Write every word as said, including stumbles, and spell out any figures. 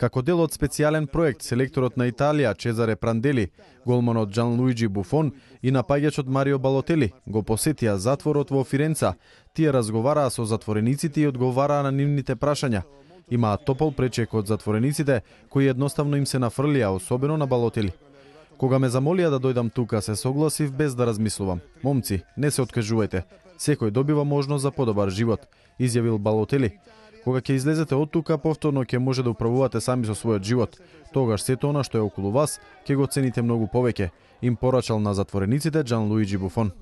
Како дел од специјален проект, селекторот на Италија Чезаре Прандели, голманот Џанлуиџи Буфон и напаѓачот Марио Балотели го посетија затворот во Фиренца. Тие разговараа со затворениците и одговараа на нивните прашања. Имаат топол пречек од затворениците кои едноставно им се нафрлија, особено на Балотели. Кога ме замолија да дојдам тука, се согласив без да размислувам. Момци, не се откажувајте. Секој добива можност за подобар живот, изјавил Балотели. Кога ќе излезете од тука, повторно ќе може да управувате сами со својот живот. Тогаш сето она што е околу вас ќе го цените многу повеќе, им порачал на затворениците Џанлуиџи Буфон.